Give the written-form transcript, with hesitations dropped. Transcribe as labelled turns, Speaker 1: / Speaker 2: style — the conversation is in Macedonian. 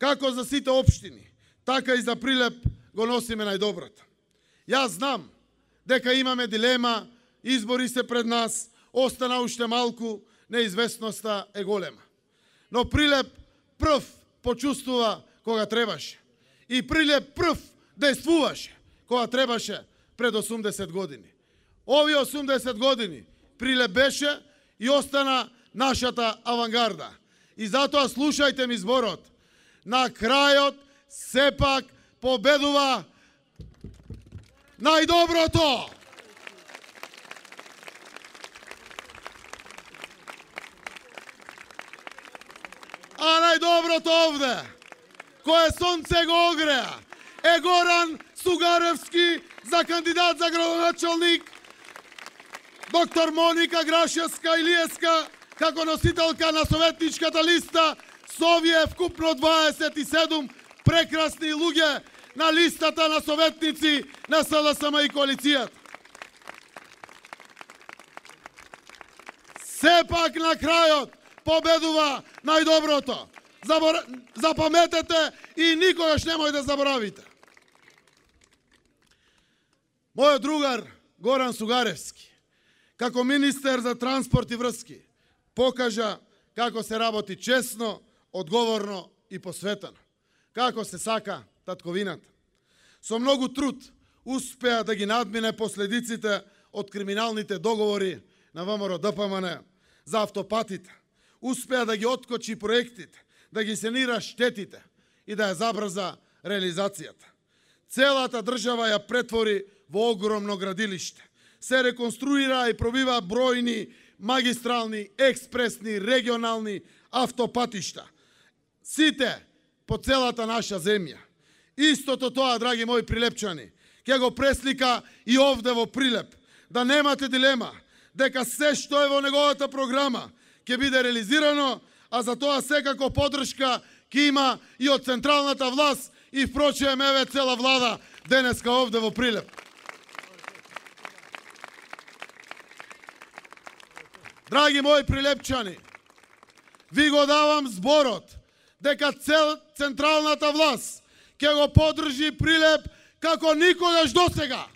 Speaker 1: Како за сите општини, така и за Прилеп го носиме најдоброто. Јас знам дека имаме дилема, избори се пред нас, остана уште малку, неизвестноста е голема. Но Прилеп прв почувствува кога требаше. И Прилеп прв действуваше кога требаше пред 80 години. Овие 80 години Прилеп беше и остана нашата авангарда. И затоа слушајте ми зборот. На крајот сепак победува најдоброто. А најдоброто овде, кое сонце го огреа, е Горан Сугаревски за кандидат за градоначалник, доктор Моника Грашевска-Илиевска како носителка на советничката листа, со овие вкупно 27 прекрасни луѓе на листата на советници на СДСМ и коалицијата. Сепак на крајот победува најдоброто. Запаметете и никогаш немој да заборавите. Мојот другар Горан Сугаревски, како министер за транспорт и врски, покажа како се работи честно, одговорно и посветено. Како се сака татковината. Со многу труд успеа да ги надмине последиците од криминалните договори на ВМРО-ДПМН за автопатите. Успеа да ги откочи проектите, да ги санира штетите и да ја забрза реализацијата. Целата држава ја претвори во огромно градилиште. Се реконструира и пробива бројни магистрални, експресни, регионални автопатишта. Сите по целата наша земја. Истото тоа, драги мои прилепчани, ќе го преслика и овде во Прилеп. Да немате дилема дека се што е во неговата програма ќе биде реализирано, а за тоа секако поддршка ќе има и од централната власт и впрочем еве цела влада денеска овде во Прилеп. Драги мои прилепчани, ви го давам зборот дека централната власт ќе го поддржи Прилеп како никогаш досега.